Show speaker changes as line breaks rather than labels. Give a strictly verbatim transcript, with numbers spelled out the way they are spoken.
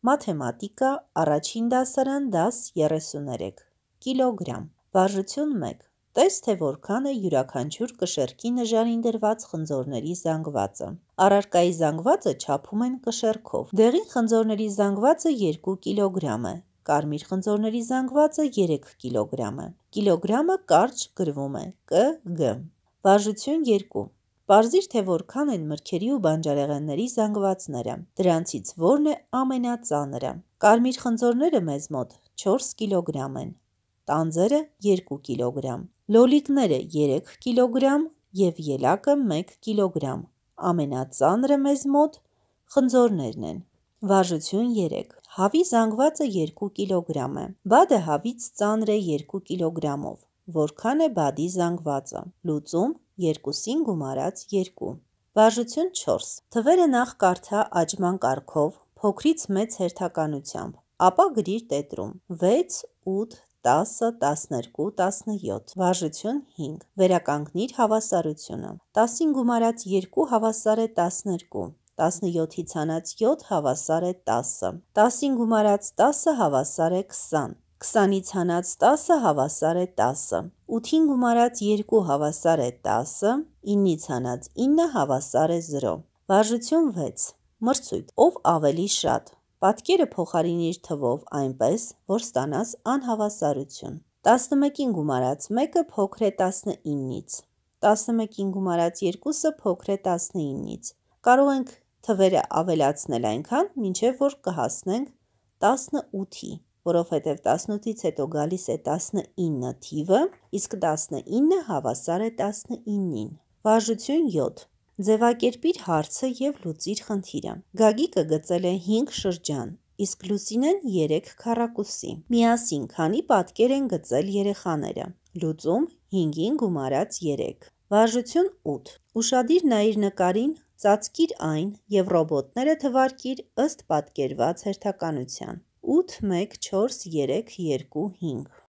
Մաթեմատիկա, առաջին դասարան, դաս երեսուներեք, կիլոգրամ, վարժություն մեկ, տես թե որքան է յուրաքանչյուր կշեռքի նժարին դրված խնձորների զանգվածը, առարկայի զանգվածը չափում են կշեռքով, դեղին խնձորների զանգվածը երկու կիլոգրամ է, կարմիր խնձորների զանգվածը երեք կիլոգրամ է, կիլոգրամը կարճ գրվում է կգ, վարժություն երկու, պարզիր թե որքան են մրգերի ու բանջարեղենների զանգվածները, դրանցից որն է ամենածանրը, կարմիր խնձորները մեզ մոտ չորս կիլոգրամ են, տանձերը երկու կիլոգրամ, լոլիկները երեք կիլոգրամ և ելակը մեկ կիլոգրամ, ամենածանրը մեզ մոտ խնձորներն են, վարժություն երեք, հավի զանգվածը երկու կիլոգրամ է, բադը հավից ծանր է երկու կիլոգրամով, որքան է բադի զանգվածը, լուծում երկուսին գումարած երկու, վարժություն չորս, թվերը նախ կարդա աճման կարգով, փոքրից մեծ հերթականությամբ, ապա գրիր տետրում, վեց, ութ, տասը, տասներկու, տասնյոթ, վարժություն հինգ, վերականգնիր հավասարությունը, տասին գումարած երկու հավասար է տասներկու, տասնյոթից հանած յոթ հավասար է տասը, տասին գումարած տասը հավասար է քսան, քսանից հանած տասը հավասար է տասը, ութին գումարած երկու հավասար է տասը, իննից հանած ինը հավասար է զրո, վարժություն վեց, մրցույթ, ով ավելի շատ, պատկերը փոխարինիր թվով այնպես, որ ստանաս անհավասարություն, տասնմեկին գումարած մեկը փոքր է տասնինից, տասնմեկին գումարած երկուսը փոքր է տասնինից, կարող ենք թվերը ավելացնել այնքան, մինչև որ կհասնենք տասնութի, որովհետև տասնութից հետո գալիս է տասնինը թիվը, իսկ տասնինը հավասար է տասնինին, վարժություն յոթ, ձևակերպիր հարցը և լուծիր խնդիրը, Գագիկը գծել է հինգ շրջան, իսկ Լուսինեն երեք քառակուսի, միասին քանի պատկեր են գծել երեխաները, լուծում հինգին գումարած երեք, վարժություն ութ, ուշադիր նայիր նկարին, ծածկիր այն և ռոբոտները թվարկիր ըստ պատկերված հերթականության, ութ, մեկ, չորս, երեք, երկու, հինգ,